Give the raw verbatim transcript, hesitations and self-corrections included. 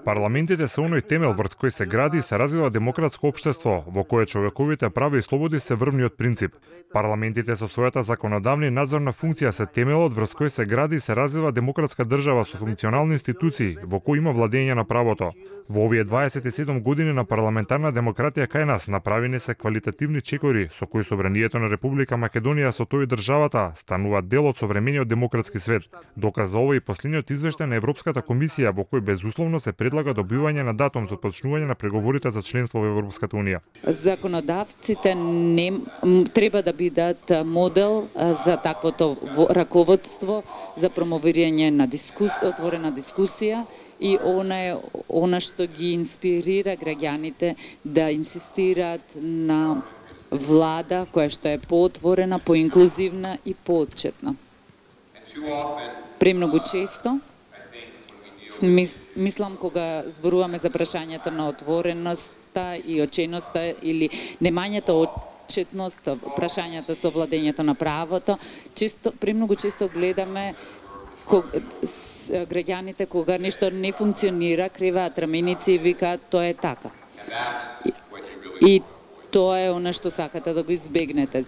Парламентите се оној темел врз кој се гради и се развива демократско општество, во кое човековите права и слободи се врвниот принцип. Парламентите со својата законодавна и надзорна функција се темелот врз кој се гради и се развива демократска држава со функционални институции, во кој има владење на правото. Во овие дваесет и седум години на парламентарна демократија кај нас направени се квалитативни чекори со кои собранието на Република Македонија со тој државата станува дел од современиот демократски свет. Доказ за ова и последниот извештај на Европската комисија во кој безусловно се предлага добивање на датум за почнување на преговорите за членство во Европската унија. Законодавците не треба да бидат модел за таквото раководство за промовирање на дискусија, отворена дискусија и она е она што ги инспирира граѓаните да инсистираат на влада која што е поотворена, поинклузивна и поотчетна. Премногу често Мис, мислам кога зборуваме за прашањето на отвореноста и оченоста или немањето отчетност, прашањето со владењето на правото, често, премногу често гледаме кога, граѓаните кога нешто не функционира, криваат раменици и викаат тоа е така. И, и тоа е она што сакате да го избегнете.